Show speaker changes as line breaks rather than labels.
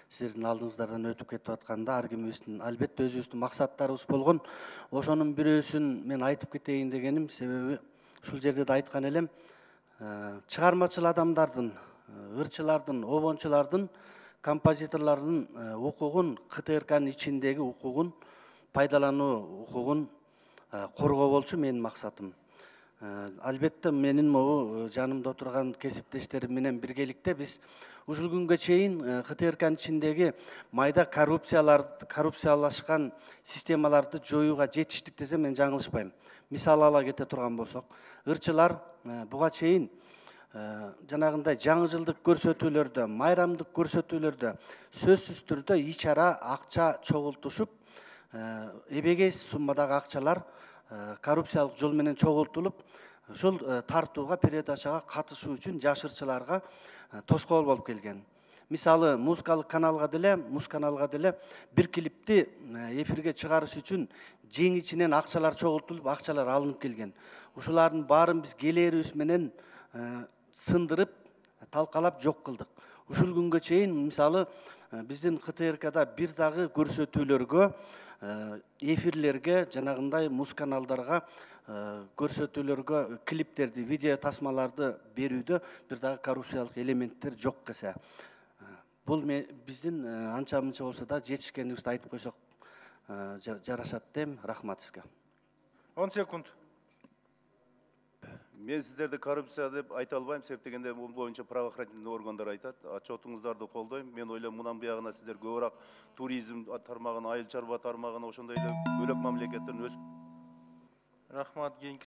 сиздердин алдыңыздардан өтүп кетип атканда ар кимибиздин албетте өзүбүздүн максаттарыбыз болгон. Ошонун бирөөсүн мен айтып кетейин дегеним, себеби ушул жерде да айткан элем, чыгармачыл адамдардын, ырчылардын, обончулардын, композиторлордун укугун, КТРКнын ичиндеги укугун пайдалануу укугун коргоо болчу менин максатым. Албетте менин могу жанымда отурган кесиптештерим менен биргеликте биз ушул күнгө чейин КТРКнын ичиндеги майда коррупциялашкан системаларды жоюуга жетиштик десем мен жаңылышпайм. Мисал ала кете турган болсок, ырчылар буга чейин жанагындай жаңы жылдык көрсөтүүлөрдө, майрамдык көрсөтүүлөрдө сөзсүз түрдө ич ара акча чогултушуп, эбегейсиз суммадагы акчалар коррупциялык жол менен чогултулуп, ушул тартууга, передачага катышуу үчүн жаш ырчыларга тоскоол болуп келген. Мисалы, музыкалык каналга деле, Музканалга деле бир клипти эфирге чыгарыш үчүн жең ичинен акчалар чогултулуп, акчалар алынып келген. Ушулардын баарын биз келээрибиз менен сындырып, талкалап жок кылдык. Ушул күнгө чейин мисалы биздин КТРКда бир дагы көрсөтүүлөргө, эфирлерге, жанагындай музканалдарга көрсөтүүлөргө клиптерди, видео тасмаларды берүүдө бир дагы коррупциялык элементтер жок кесе. Бул биздин анча мынча болсо да жетишкенибизди айтып койсок жарашат дейм. Рахмат сизге.
10 секунд.
Мен сиздерди коррупция деп айта албайм, себеп дегенде бул боюнча правоохранительный органдар айтат. Отчетуңуздарды колдойм. Мен ойлойм, мундан буягына сиздер көбүрөөк туризм тармагына, айыл чарба тармагына, ошондой эле бөлөк мамлекеттердин өсүп.
Рахмат.